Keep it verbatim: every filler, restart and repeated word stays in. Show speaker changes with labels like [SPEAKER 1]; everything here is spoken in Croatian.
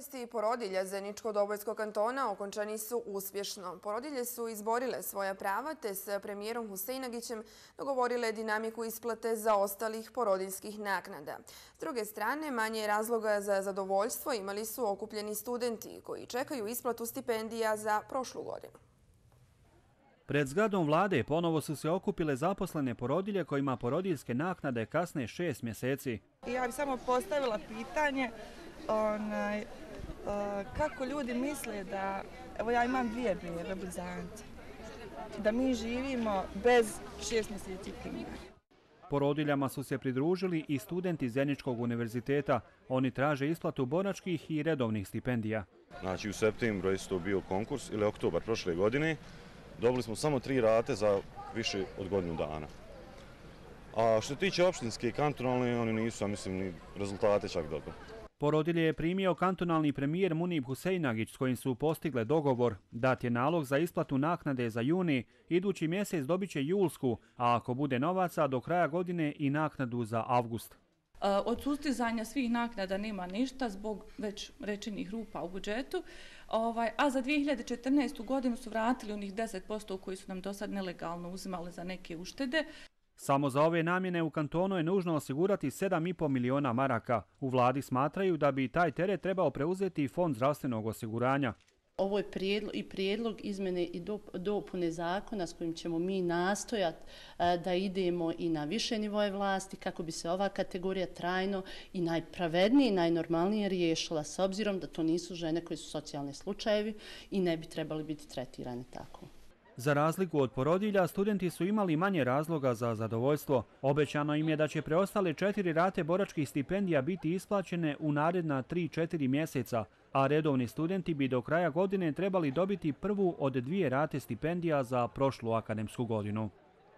[SPEAKER 1] Protesti porodilja Zeničko-Dobojskog kantona okončani su uspješno. Porodilje su izborile svoja prava te s premijerom Huseinagićem dogovorile dinamiku isplate zaostalih porodiljskih naknada. S druge strane, manje razloga za zadovoljstvo imali su okupljeni studenti koji čekaju isplatu stipendija za prošlu godinu.
[SPEAKER 2] Pred zgradom vlade ponovo su se okupile zaposlene porodilje kojima porodiljske naknade kasne šest mjeseci.
[SPEAKER 3] Ja bih samo postavila pitanje onaj, kako ljudi misle da, evo ja imam dvije bebe blizance, da mi živimo bez šest mjeseci primanja.
[SPEAKER 2] Porodiljama su se pridružili i studenti Zeničkog univerziteta. Oni traže isplatu boračkih i redovnih stipendija.
[SPEAKER 4] Znači u septembru je to bio konkurs ili oktobar prošle godine. Dobili smo samo tri rate za više od godinu dana. A što se tiče opštinske i kantonalne, oni nisu, a mislim, ni rezultate čak dobili.
[SPEAKER 2] Porodilje je primio kantonalni premijer Munib Huseinagić s kojim su postigle dogovor. Dat je nalog za isplatu naknade za juni, idući mjesec dobit će julsku, a ako bude novaca do kraja godine i naknadu za avgust.
[SPEAKER 5] Od sustizanja svih naknada nema ništa zbog već rečenih rupa u budžetu, a za dvije hiljade četrnaestu. godinu su vratili onih deset posto koji su nam do sad nelegalno uzimali za neke uštede.
[SPEAKER 2] Samo za ove namjene u kantonu je nužno osigurati sedam i pol miliona maraka. U vladi smatraju da bi taj teret trebao preuzeti Fond zdravstvenog osiguranja.
[SPEAKER 6] Ovo je prijedlog i prijedlog izmjene i dopune zakona s kojim ćemo mi nastojati da idemo i na više nivoje vlasti kako bi se ova kategorija trajno i najpravednije i najnormalnije riješila, s obzirom da to nisu žene koje su socijalni slučajevi i ne bi trebali biti tretirane tako.
[SPEAKER 2] Za razliku od porodilja, studenti su imali manje razloga za zadovoljstvo. Obećano im je da će preostale četiri rate boračkih stipendija biti isplaćene u naredna tri četiri mjeseca, a redovni studenti bi do kraja godine trebali dobiti prvu od dvije rate stipendija za prošlu akademsku godinu.